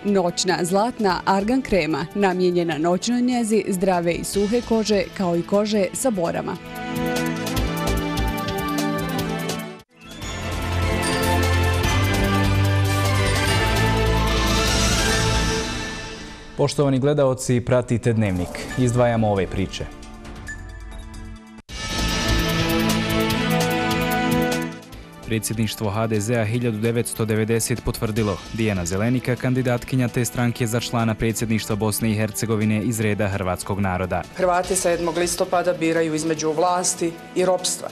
Noćna zlatna argan krema, namijenjena noćnoj njezi zdrave i suhe kože, kao i kože sa borama. Poštovani gledaoci, pratite Dnevnik. Izdvajamo ove priče. Predsjedništvo HDZ-a 1990 potvrdilo Dijana Zelenika, kandidatkinja te stranke za člana predsjedništva Bosne i Hercegovine iz reda hrvatskog naroda. Hrvati 7. listopada biraju između vlasti i ropstva.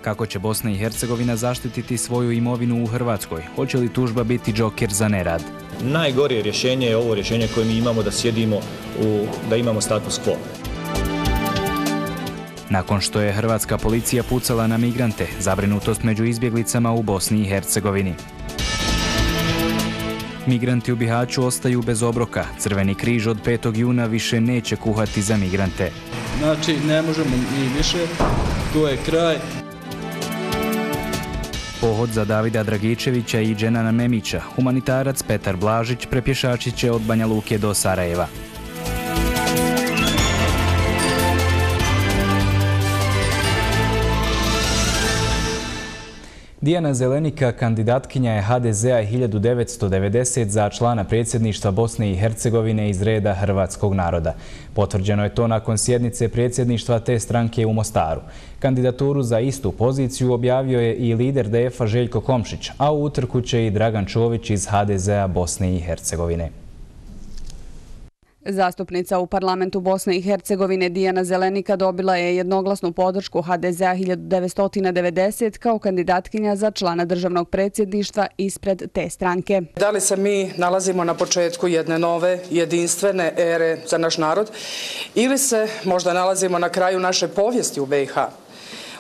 Kako će Bosna i Hercegovina zaštititi svoju imovinu u Hrvatskoj? Hoće li tužba biti džoker za nerad? Najgore rješenje je ovo rješenje koje mi imamo, da sjedimo, da imamo status quo. Nakon što je hrvatska policija pucala na migrante, zabrinutost među izbjeglicama u Bosni i Hercegovini. Migranti u Bihaću ostaju bez obroka. Crveni križ od 5. juna više neće kuhati za migrante. Znači, ne možemo ni više, to je kraj. Pohod za Davida Dragičevića i Dženana Memića. Humanitarac Petar Blažić prepješačit će od Banja Luke do Sarajeva. Dijana Zelenika, kandidatkinja je HDZ-a 1990 za člana predsjedništva Bosne i Hercegovine iz reda hrvatskog naroda. Potvrđeno je to nakon sjednice predsjedništva te stranke u Mostaru. Kandidaturu za istu poziciju objavio je i lider DF-a Željko Komšić, a u utrku će i Dragan Čović iz HDZ-a Bosne i Hercegovine. Zastupnica u parlamentu Bosne i Hercegovine Dijana Zelenika dobila je jednoglasnu podršku HDZ-a 1990 kao kandidatkinja za člana državnog predsjedništva ispred te stranke. Da li se mi nalazimo na početku jedne nove, jedinstvene ere za naš narod ili se možda nalazimo na kraju naše povijesti u BiH?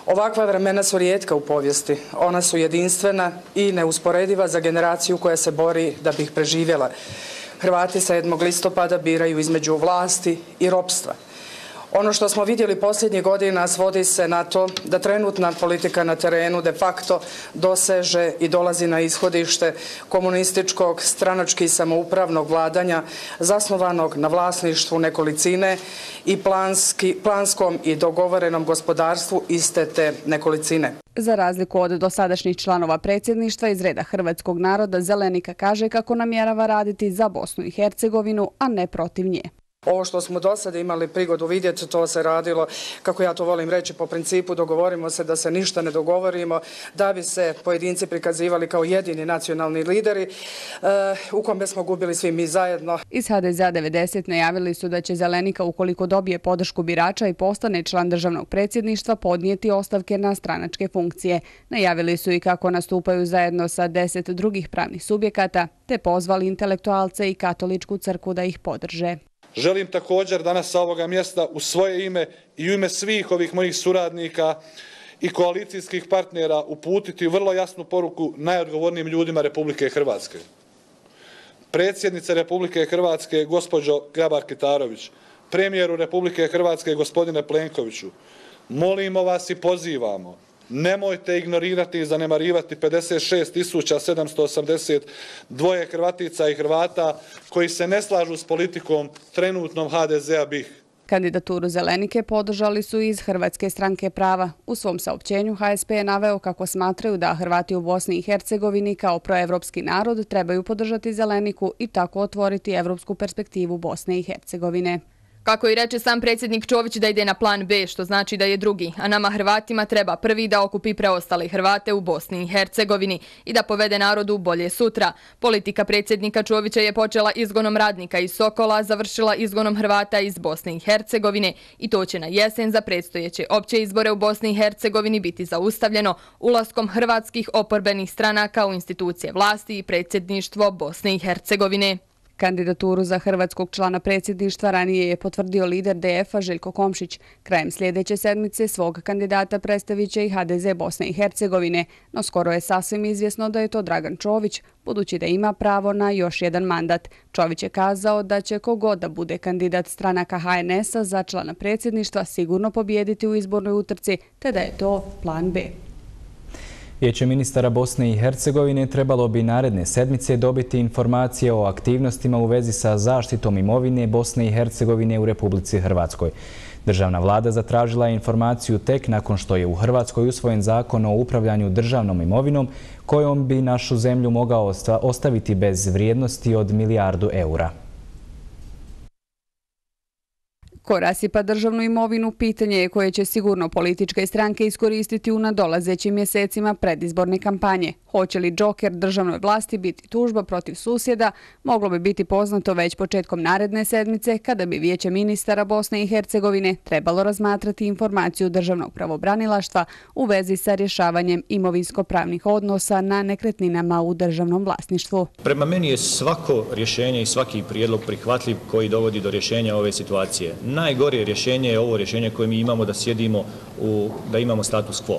Ovakva vremena su rijetka u povijesti. Ona su jedinstvena i neusporediva za generaciju koja se bori da bi ih preživjela. Hrvati 7. listopada biraju između vlasti i ropstva. Ono što smo vidjeli posljednjih godina svodi se na to da trenutna politika na terenu de facto doseže i dolazi na ishodište komunističkog, stranački samoupravnog vladanja zasnovanog na vlasništvu nekolicine i planskom i dogovorenom gospodarstvu iste te nekolicine. Za razliku od dosadašnjih članova predsjedništva iz reda hrvatskog naroda, Zelenika kaže kako namjerava raditi za Bosnu i Hercegovinu, a ne protiv nje. Ovo što smo do sada imali prigodu vidjeti, to se radilo, kako ja to volim reći, po principu dogovorimo se da se ništa ne dogovorimo, da bi se pojedinci prikazivali kao jedini nacionalni lideri, u kome smo gubili svi mi zajedno. Iz HDZ-a 90 najavili su da će Zelenika, ukoliko dobije podršku birača i postane član državnog predsjedništva, podnijeti ostavke na stranačke funkcije. Najavili su i kako nastupaju zajedno sa 10 drugih pravnih subjekata, te pozvali intelektualce i katoličku crkvu da ih podrže. Želim također danas sa ovoga mjesta u svoje ime i u ime svih ovih mojih suradnika i koalicijskih partnera uputiti vrlo jasnu poruku najodgovornijim ljudima Republike Hrvatske. Predsjednice Republike Hrvatske, gospođo Grabar-Kitarović, premijeru Republike Hrvatske, gospodine Plenkoviću, molimo vas i pozivamo, nemojte ignorirati i zanemarivati 56.782 Hrvatica i Hrvata koji se ne slažu s politikom trenutnom HDZ-a BiH. Kandidaturu Zelenike podržali su iz Hrvatske stranke prava. U svom saopćenju HSP je naveo kako smatraju da Hrvati u Bosni i Hercegovini kao proevropski narod trebaju podržati Zeleniku i tako otvoriti evropsku perspektivu Bosne i Hercegovine. Kako i reče sam predsjednik Čović da ide na plan B, što znači da je drugi, a nama Hrvatima treba prvi da okupi preostale Hrvate u Bosni i Hercegovini i da povede narodu bolje sutra. Politika predsjednika Čovića je počela izgonom radnika iz Sokola, završila izgonom Hrvata iz Bosne i Hercegovine i to će na jesen za predstojeće opće izbore u Bosni i Hercegovini biti zaustavljeno ulaskom hrvatskih oporbenih stranaka u institucije vlasti i predsjedništvo Bosne i Hercegovine. Kandidaturu za hrvatskog člana predsjedništva ranije je potvrdio lider DF-a Željko Komšić. Krajem sljedeće sedmice svog kandidata predstavit će i HDZ Bosne i Hercegovine, no skoro je sasvim izvjesno da je to Dragan Čović, budući da ima pravo na još jedan mandat. Čović je kazao da će kogod da bude kandidat stranaka HNS-a za člana predsjedništva sigurno pobijediti u izbornoj utrci, te da je to plan B. Vijeće ministara Bosne i Hercegovine trebalo bi naredne sedmice dobiti informacije o aktivnostima u vezi sa zaštitom imovine Bosne i Hercegovine u Republici Hrvatskoj. Državna vlada zatražila je informaciju tek nakon što je u Hrvatskoj usvojen zakon o upravljanju državnom imovinom kojom bi našu zemlju mogao ostaviti bez vrijednosti od milijardu eura. Ko rasipa državnu imovinu, pitanje je koje će sigurno političke stranke iskoristiti u nadolazećim mjesecima predizborne kampanje. Hoće li džoker državnoj vlasti biti tužba protiv susjeda, moglo bi biti poznato već početkom naredne sedmice, kada bi Vijeće ministara Bosne i Hercegovine trebalo razmatrati informaciju državnog pravobranilaštva u vezi sa rješavanjem imovinsko-pravnih odnosa na nekretninama u državnom vlasništvu. Prema meni je svako rješenje i svaki prijedlog prihvatljiv koji dovodi do rješenja ove situacije. Najgore rješenje je ovo rješenje koje mi imamo da sjedimo, da imamo status quo.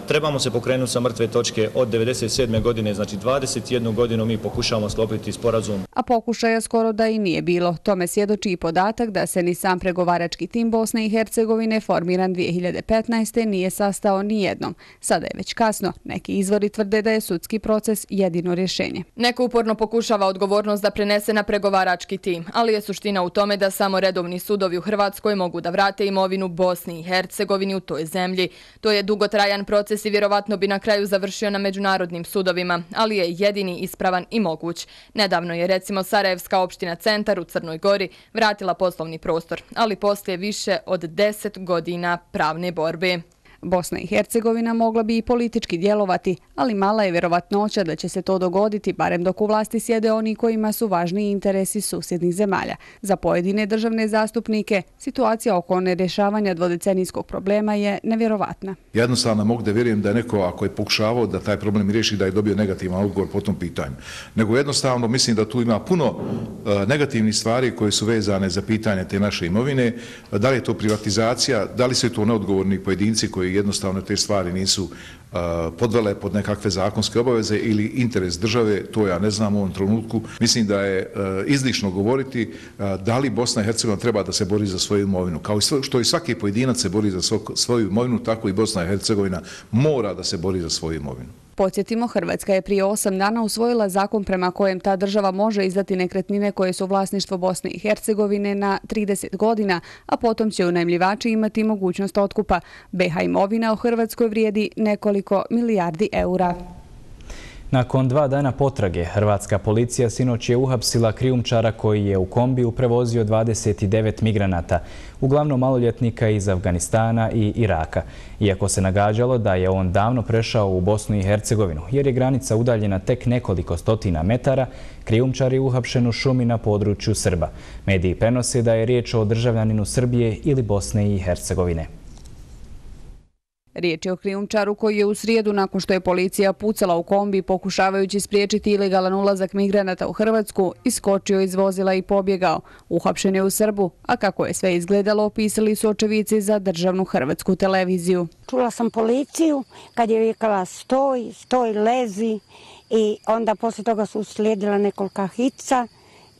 Trebamo se pokrenuti sa mrtve točke od 1997. godine, znači 21 godinu mi pokušavamo sklopiti sporazum. A pokušaja skoro da i nije bilo. Tome svjedoči i podatak da se ni sam pregovarački tim Bosne i Hercegovine formiran 2015. nije sastao ni jednom. Sada je već kasno. Neki izvori tvrde da je sudski proces jedino rješenje. Neko uporno pokušava odgovornost da prenese na pregovarački tim, ali je suština u tome da samo redovni sudovi u Hrvatskoj mogu da vrate imovinu Bosni i Hercegovini u toj zemlji. To je dugotrajan proces i vjerovatno bi na kraju završio na međunarodnim sudovima, ali je jedini ispravan i moguć. Nedavno je recimo Sarajevska opština Centar u Crnoj Gori vratila poslovni prostor, ali poslije više od 10 godina pravne borbe. Bosna i Hercegovina mogla bi i politički djelovati, ali mala je vjerovatnoća da će se to dogoditi, barem dok u vlasti sjede oni kojima su važniji interesi susjednih zemalja. Za pojedine državne zastupnike situacija oko nerješavanja dvodecenijskog problema je nevjerovatna. Jednostavno mogu da vjerujem da je neko, ako je pokušavao da taj problem riješi, da je dobio negativan odgovor po tom pitanju. Nego jednostavno mislim da tu ima puno negativnih stvari koje su vezane za pitanje te naše imovine. Da li je to privatizacija, da li su to neodgovorni pojedinci koji jednostavno te stvari nisu podvele pod nekakve zakonske obaveze ili interes države, to ja ne znam u ovom trenutku. Mislim da je izlišno govoriti da li Bosna i Hercegovina treba da se bori za svoju imovinu. Kao što i svaki pojedinac se bori za svoju imovinu, tako i Bosna i Hercegovina mora da se bori za svoju imovinu. Podsjetimo, Hrvatska je prije 8 dana usvojila zakon prema kojem ta država može izdati nekretnine koje su vlasništvo Bosne i Hercegovine na 30 godina, a potom će unajmljivači imati mogućnost otkupa. BiH imovina u Hrvatskoj vrijedi nekoliko milijardi eura. Nakon 2 dana potrage, hrvatska policija sinoć je uhapsila krijumčara koji je u kombiju prevozio 29 migranata, uglavnom maloljetnika iz Afganistana i Iraka. Iako se nagađalo da je on davno prešao u Bosnu i Hercegovinu, jer je granica udaljena tek nekoliko stotina metara, krijumčar je uhapšen u šumi na području Srba. Mediji prenose da je riječ o državljaninu Srbije ili Bosne i Hercegovine. Riječ je o krijumčaru koji je u srijedu, nakon što je policija pucala u kombi pokušavajući spriječiti ilegalan ulazak migranata u Hrvatsku, iskočio iz vozila i pobjegao. Uhapšen je u Srbu, a kako je sve izgledalo opisali su očevici za državnu hrvatsku televiziju. Čula sam policiju kad je vikala stoj, stoj, lezi i onda poslije toga su uslijedila nekolika hica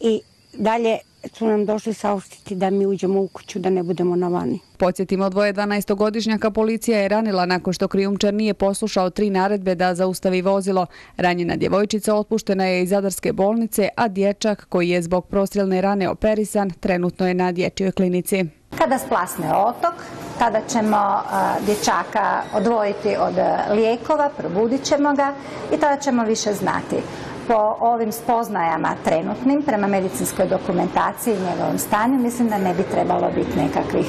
i dalje su nam došli saopštiti da mi uđemo u kuću, da ne budemo na vani. Podsjetimo, 2 12-godišnjaka policija je ranila nakon što krijumčar nije poslušao 3 naredbe da zaustavi vozilo. Ranjena djevojčica otpuštena je iz Zadarske bolnice, a dječak koji je zbog prostrilne rane operisan trenutno je na dječjoj klinici. Kada splasne otok, tada ćemo dječaka odvojiti od lijekova, probudit ćemo ga i tada ćemo više znati. Po ovim spoznajama trenutnim, prema medicinskoj dokumentaciji i njegovom stanju, mislim da ne bi trebalo biti nekakvih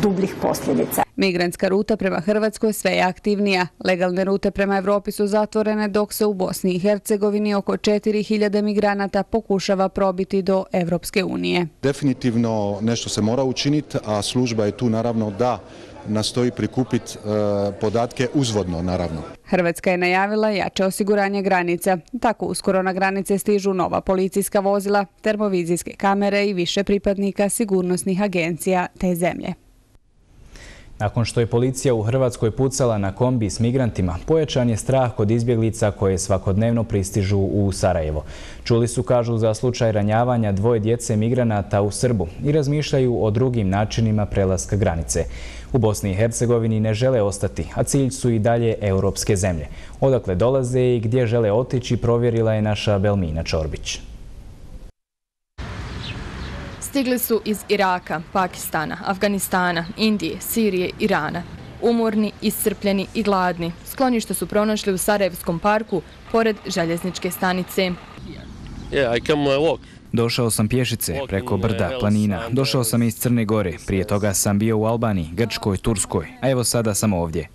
dubljih posljedica. Migrantska ruta prema Hrvatskoj sve je aktivnija. Legalne rute prema Evropi su zatvorene, dok se u Bosni i Hercegovini oko 4000 migranata pokušava probiti do Evropske unije. Definitivno nešto se mora učiniti, a služba je tu naravno da nastoji prikupiti podatke uzvodno, naravno. Hrvatska je najavila jače osiguranje granica. Tako uskoro na granice stižu nova policijska vozila, termovizijske kamere i više pripadnika sigurnosnih agencija te zemlje. Nakon što je policija u Hrvatskoj pucala na kombi s migrantima, pojačan je strah kod izbjeglica koje svakodnevno pristižu u Sarajevo. Čuli su, kažu, za slučaj ranjavanja 2 djece migranata u Srbu i razmišljaju o drugim načinima prelaska granice. U Bosni i Hercegovini ne žele ostati, a cilj su i dalje europske zemlje. Odakle dolaze i gdje žele otići provjerila je naša Belmina Čorbić. Stigli su iz Iraka, Pakistana, Afganistana, Indije, Sirije, Irana. Umorni, iscrpljeni i gladni. Sklonište su pronašli u Sarajevskom parku, pored željezničke stanice. Došao sam pješice, preko brda, planina. Došao sam iz Crne Gore. Prije toga sam bio u Albaniji, Grčkoj, Turskoj. A evo sada sam ovdje.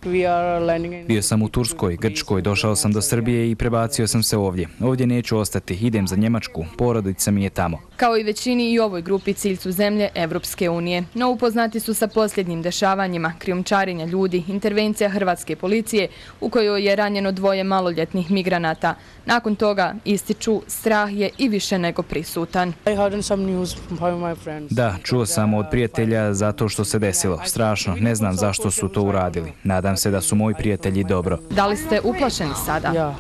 Bio sam u Turskoj, Grčkoj, došao sam do Srbije i prebacio sam se ovdje. Ovdje neću ostati, idem za Njemačku, porodica mi je tamo. Kao i većini i ovoj grupi cilj su zemlje Evropske unije. No upoznati su sa posljednjim dešavanjima, krijumčarenja ljudi, intervencija hrvatske policije u kojoj je ranjeno 2 maloljetnih migranata. Nakon toga, ističu, strah je i više nego prisutan. Da, čuo sam od prijatelja zato što se desilo. Strašno, ne znam zašto su to uradili. Nadam se da su moji prijatelji dobro. Da li ste uplašeni sada?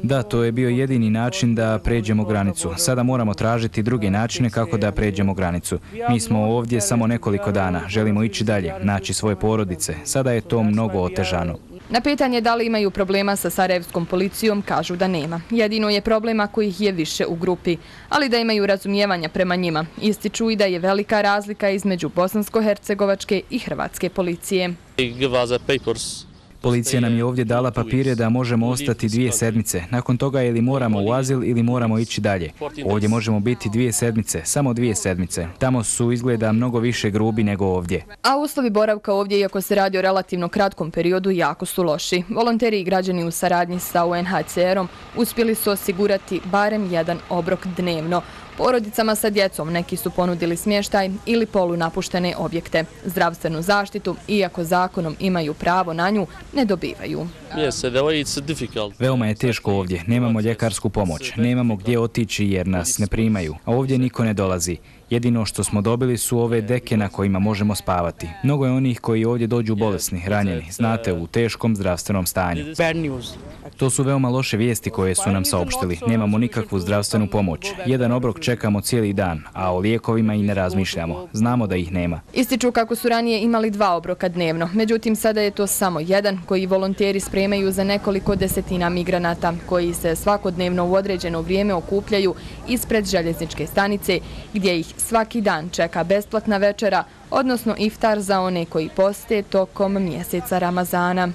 Da, to je bio jedini način da pređemo granicu. Sada moramo tražiti druge načine kako da pređemo granicu. Mi smo ovdje samo nekoliko dana. Želimo ići dalje, naći svoje porodice. Sada je to mnogo otežano. Na pitanje da li imaju problema sa sarajevskom policijom, kažu da nema. Jedino je problema kojih je više u grupi, ali da imaju razumijevanja prema njima. Ističu i da je velika razlika između bosansko-hercegovačke i hrvatske policije. Policija nam je ovdje dala papire da možemo ostati 2 sedmice. Nakon toga ili moramo u azil ili moramo ići dalje. Ovdje možemo biti 2 sedmice, samo 2 sedmice. Tamo su izgleda mnogo više grubi nego ovdje. A uslovi boravka ovdje, iako se radi o relativno kratkom periodu, jako su loši. Volonteri i građani u saradnji sa UNHCR-om uspjeli su osigurati barem 1 obrok dnevno. Porodicama sa djecom neki su ponudili smještaj ili polunapuštene objekte. Zdravstvenu zaštitu, iako zakonom imaju pravo na nju, ne dobivaju. Veoma je teško ovdje. Nemamo ljekarsku pomoć. Nemamo gdje otići jer nas ne primaju. A ovdje niko ne dolazi. Jedino što smo dobili su ove deke na kojima možemo spavati. Mnogo je onih koji ovdje dođu bolesni, ranjeni, znate, u teškom zdravstvenom stanju. To su veoma loše vijesti koje su nam saopštili. Nemamo nikakvu zdravstvenu pomoć. 1 obrok čekamo cijeli dan, a o lijekovima i ne razmišljamo. Znamo da ih nema. Ističu kako su ranije imali 2 obroka dnevno. Međutim, sada je to samo 1 koji volonteri spremaju za nekoliko desetina migranata koji se svakodnevno u određeno vrijeme okupljaju ispred željezničke stanice gdje ih svaki dan čeka besplatna večera, odnosno iftar za one koji poste tokom mjeseca Ramazana.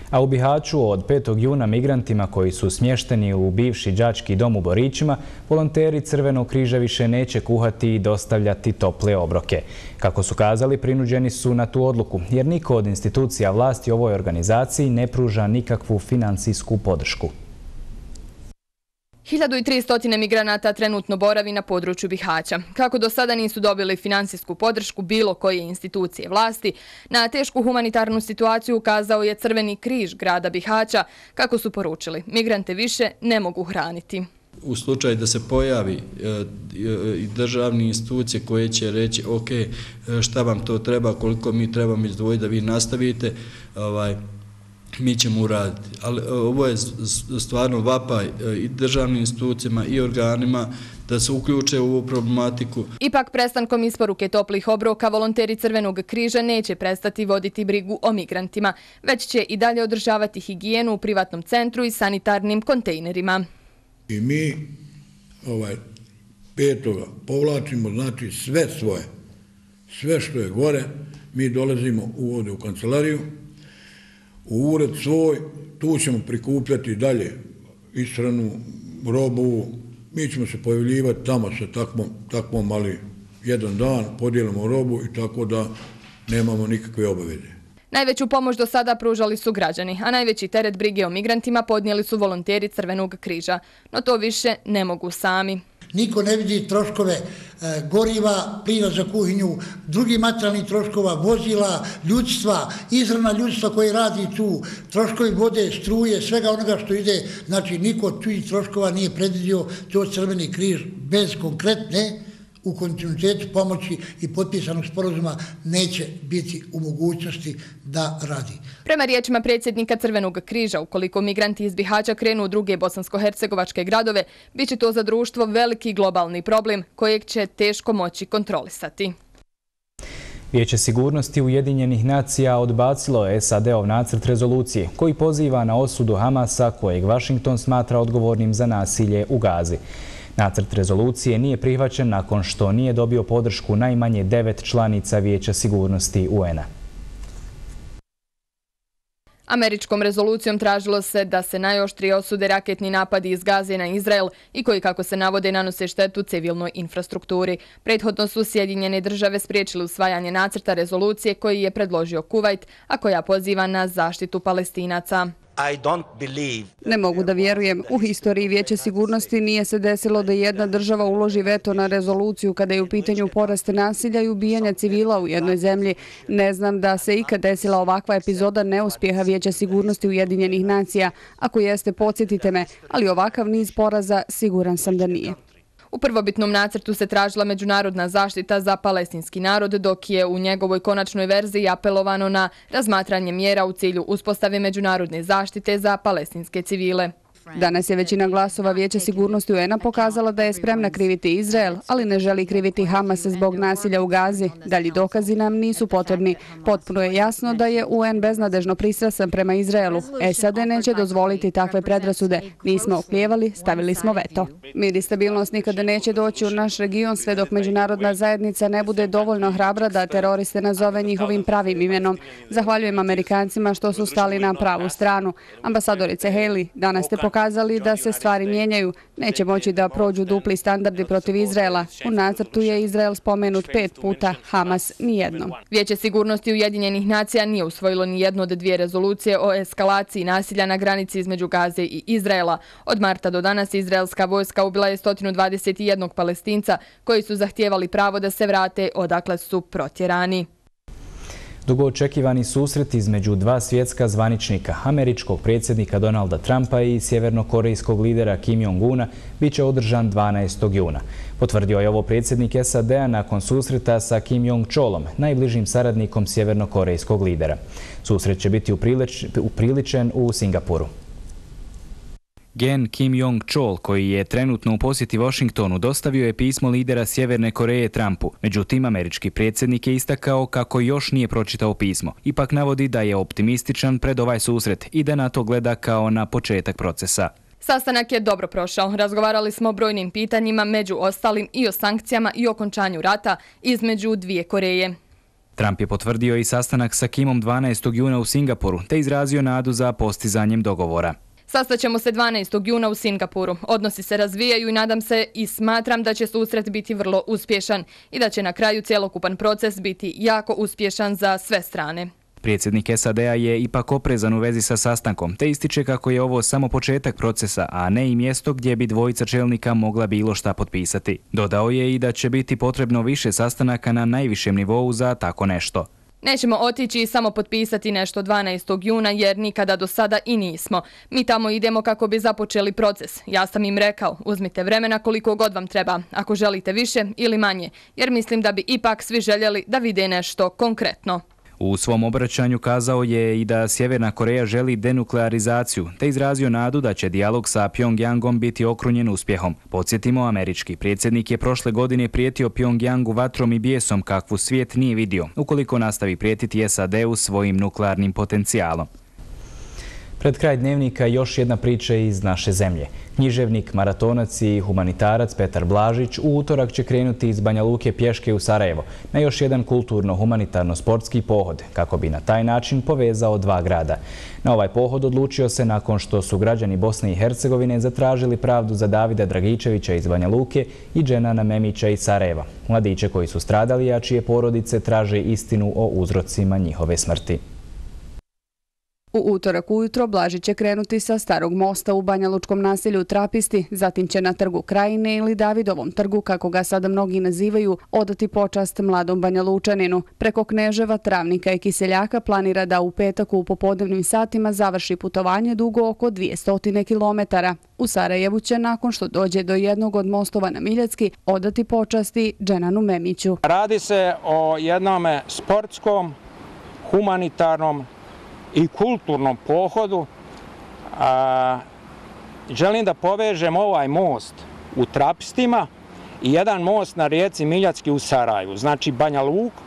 A u Bihaću od 5. juna migrantima koji su smješteni u bivši đački dom u Borićima, volonteri Crvenog križa više neće kuhati i dostavljati tople obroke. Kako su kazali, prinuđeni su na tu odluku, jer niko od institucija vlasti ovoj organizaciji ne pruža nikakvu financijsku podršku. 1300 migranata trenutno boravi na području Bihaća. Kako do sada nisu dobili finansijsku podršku bilo koje institucije vlasti, na tešku humanitarnu situaciju ukazao je Crveni križ grada Bihaća. Kako su poručili, migrante više ne mogu hraniti. U slučaju da se pojavi i državne institucije koje će reći ok, šta vam to treba, koliko mi trebamo izdvojiti da vi nastavite, mi ćemo uraditi. Ali ovo je stvarno vapaj i državnim institucijama i organima da se uključe u ovu problematiku. Ipak prestankom isporuke toplih obroka volonteri Crvenog križa neće prestati voditi brigu o migrantima, već će i dalje održavati higijenu u privatnom centru i sanitarnim kontejnerima. I mi 5. povlačimo znači sve svoje, sve što je gore, mi dolazimo ovdje u kancelariju, u ured svoj, tu ćemo prikupljati dalje ishranu, robu, mi ćemo se pojavljivati tamo sa takvom, ali 1 dan podijelimo robu i tako da nemamo nikakve obaveze. Najveću pomoć do sada pružali su građani, a najveći teret brige o migrantima podnijeli su volonteri Crvenog križa. No to više ne mogu sami. Niko ne vidi troškove goriva, plina za kuhinju, drugih materijalnih troškova, vozila, ljudstva, izravna ljudstva koji radi tu, troškovi vode, struje, svega onoga što ide. Znači, niko tih troškova nije predvidio, to Crveni križ bez konkretne u kontinuitetu pomoći i potpisanog sporazuma neće biti u mogućnosti da radi. Prema riječima predsjednika Crvenog križa, ukoliko migranti iz Bihaća krenu u druge bosansko-hercegovačke gradove, bit će to za društvo veliki globalni problem kojeg će teško moći kontrolisati. Vijeće sigurnosti Ujedinjenih nacija odbacilo je SAD-ov nacrt rezolucije koji poziva na osudu Hamasa kojeg Washington smatra odgovornim za nasilje u Gazi. Nacrt rezolucije nije prihvaćen nakon što nije dobio podršku najmanje 9 članica Vijeća sigurnosti UN-a. Američkom rezolucijom tražilo se da se najoštrije osude raketni napadi iz Gaze na Izrael i koji, kako se navode, nanose štetu civilnoj infrastrukturi. Prethodno su Sjedinjene države spriječile usvajanje nacrta rezolucije koji je predložio Kuvajt, a koja poziva na zaštitu Palestinaca. Ne mogu da vjerujem. U historiji Vijeća sigurnosti nije se desilo da jedna država uloži veto na rezoluciju kada je u pitanju porast nasilja i ubijanja civila u jednoj zemlji. Ne znam da se ikad desila ovakva epizoda neuspjeha Vijeća sigurnosti Ujedinjenih nacija. Ako jeste, podsjetite me, ali ovakav niz poraza siguran sam da nije. U prvobitnom nacrtu se tražila međunarodna zaštita za palestinski narod, dok je u njegovoj konačnoj verziji apelovano na razmatranje mjera u cilju uspostave međunarodne zaštite za palestinske civile. Danas je većina glasova Vijeća sigurnosti UN-a pokazala da je spremna kriviti Izrael, ali ne želi kriviti Hamas zbog nasilja u Gazi. Dalji dokazi nam nisu potrebni. Potpuno je jasno da je UN beznadežno pristrasan prema Izraelu. SAD neće dozvoliti takve predrasude. Nismo oklijevali, stavili smo veto. Mir i stabilnost nikada neće doći u naš region sve dok međunarodna zajednica ne bude dovoljno hrabra da teroriste nazove njihovim pravim imenom. Zahvaljujem Amerikancima što su stali na pravu stranu. Ambasadorice Haley, danas ste pokazali da se stvari mijenjaju. Neće moći da prođu dupli standardi protiv Izraela. U nacrtu je Izrael spomenut 5 puta, Hamas nijednom. Vijeće sigurnosti Ujedinjenih nacija nije usvojilo ni jednu od 2 rezolucije o eskalaciji nasilja na granici između Gaze i Izraela. Od marta do danas izraelska vojska ubila je 121 Palestinca koji su zahtijevali pravo da se vrate odakle su protjerani. Dugo očekivani susret između 2 svjetska zvaničnika, američkog predsjednika Donalda Trumpa i sjevernokorejskog lidera Kim Jong-una, bit će održan 12. juna. Potvrdio je ovo predsjednik SAD-a nakon susreta sa Kim Jong-cholom, najbližim saradnikom sjevernokorejskog lidera. Susret će biti upriličen u Singapuru. Gen Kim Jong-chol, koji je trenutno u posjeti Washingtonu, dostavio je pismo lidera Sjeverne Koreje Trumpu. Međutim, američki predsjednik je istakao kako još nije pročitao pismo. Ipak navodi da je optimističan pred ovaj susret i da na to gleda kao na početak procesa. Sastanak je dobro prošao. Razgovarali smo o brojnim pitanjima, među ostalim i o sankcijama i okončanju rata između 2 Koreje. Trump je potvrdio i sastanak sa Kimom 12. juna u Singapuru, te izrazio nadu za postizanjem dogovora. Sastaćemo se 12. juna u Singapuru. Odnosi se razvijaju i nadam se i smatram da će susret biti vrlo uspješan i da će na kraju cjelokupan proces biti jako uspješan za sve strane. Predsjednik SAD-a je ipak oprezan u vezi sa sastankom, te ističe kako je ovo samo početak procesa, a ne i mjesto gdje bi dvojica čelnika mogla bilo šta potpisati. Dodao je i da će biti potrebno više sastanaka na najvišem nivou za tako nešto. Nećemo otići i samo potpisati nešto 12. juna jer nikada do sada i nismo. Mi tamo idemo kako bi započeli proces. Ja sam im rekao, uzmite vremena koliko god vam treba, ako želite više ili manje, jer mislim da bi ipak svi željeli da vide nešto konkretno. U svom obraćanju kazao je i da Sjeverna Koreja želi denuklearizaciju, te izrazio nadu da će dijalog sa Pjongjangom biti okrunjen uspjehom. Podsjetimo, američki predsjednik je prošle godine prijetio Pjongjangu vatrom i bijesom kakvu svijet nije vidio, ukoliko nastavi prijetiti SAD-u svojim nuklearnim potencijalom. Pred kraj dnevnika još jedna priča iz naše zemlje. Književnik, maratonac i humanitarac Petar Blažić u utorak će krenuti iz Banja Luke pješke u Sarajevo na još jedan kulturno-humanitarno-sportski pohod, kako bi na taj način povezao 2 grada. Na ovaj pohod odlučio se nakon što su građani Bosne i Hercegovine zatražili pravdu za Davida Dragičevića iz Banja Luke i Dženana Memića iz Sarajeva, mladiće koji su stradali, a čije porodice traže istinu o uzrocima njihove smrti. U utorak ujutro Blažić će krenuti sa Starog mosta u banjalučkom naselju Trapisti, zatim će na Trgu Krajine ili Davidovom trgu, kako ga sada mnogi nazivaju, odati počast mladom banjalučaninu. Preko Kneževa, Travnika i Kiseljaka planira da u petak u popodnevnim satima završi putovanje dugo oko 200 kilometara. U Sarajevu će, nakon što dođe do jednog od mostova na Miljacki, odati počasti Dženanu Memiću. Radi se o jednom sportskom, humanitarnom i kulturnom pohodu. Želim da povežem ovaj most u Trapistima i jedan most na rijeci Miljacki u Sarajevu. Znači Banja Luka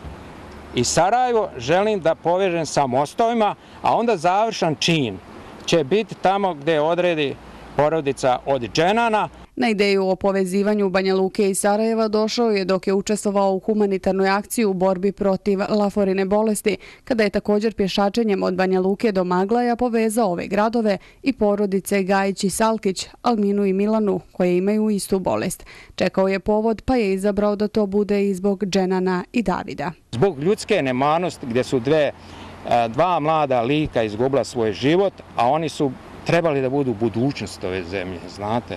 i Sarajevo želim da povežem sa mostovima, a onda završan čin će biti tamo gdje odredi porodica od Dženana. Na ideju o povezivanju Banja Luke i Sarajeva došao je dok je učestvovao u humanitarnoj akciji u borbi protiv laforine bolesti, kada je također pješačenjem od Banja Luke do Maglaja povezao ove gradove i porodice Gajić i Salkić, Alminu i Milanu, koje imaju istu bolest. Čekao je povod, pa je izabrao da to bude i zbog Dženana i Davida. Zbog ljudske nemanosti, gdje su dva mlada lika izgubila svoj život, a oni su trebali da budu budućnost ove zemlje, znate.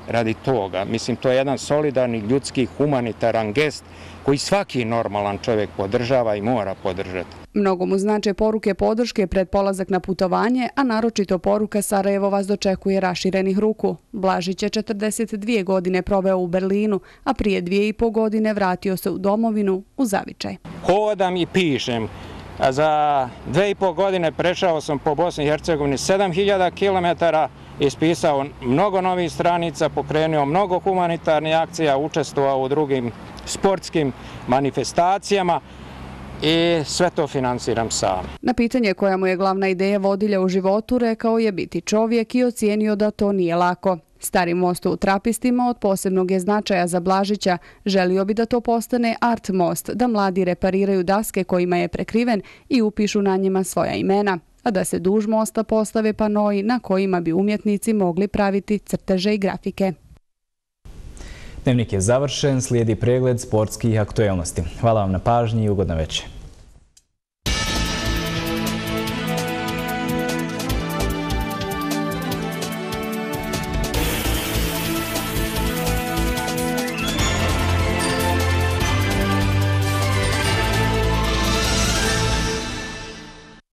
Radi toga, mislim, to je jedan solidarni, ljudski, humanitaran gest koji svaki normalan čovjek podržava i mora podržati. Mnogo mu znače poruke podrške pred polazak na putovanje, a naročito poruka Sarajevo vas dočekuje raširenih ruku. Blažić je 42 godine proveo u Berlinu, a prije 2,5 godine vratio se u domovinu, u Zavičaj. Hodam i pišem. Za 2,5 godine prešao sam po Bosni i Hercegovini 7000 kilometara, ispisao mnogo novih stranica, pokrenuo mnogo humanitarnih akcija, učestvovao u drugim sportskim manifestacijama i sve to financiram sam. Na pitanje koja mu je glavna ideja vodilja u životu, rekao je biti čovjek i ocijenio da to nije lako. Stari most u Trapistima od posebnog je značaja za Blažića. Želio bi da to postane art most, da mladi repariraju daske kojima je prekriven i upišu na njima svoja imena, a da se duž mosta postave panoi na kojima bi umjetnici mogli praviti crteže i grafike. Dnevnik je završen, slijedi pregled sportskih aktuelnosti. Hvala vam na pažnji i ugodna večer.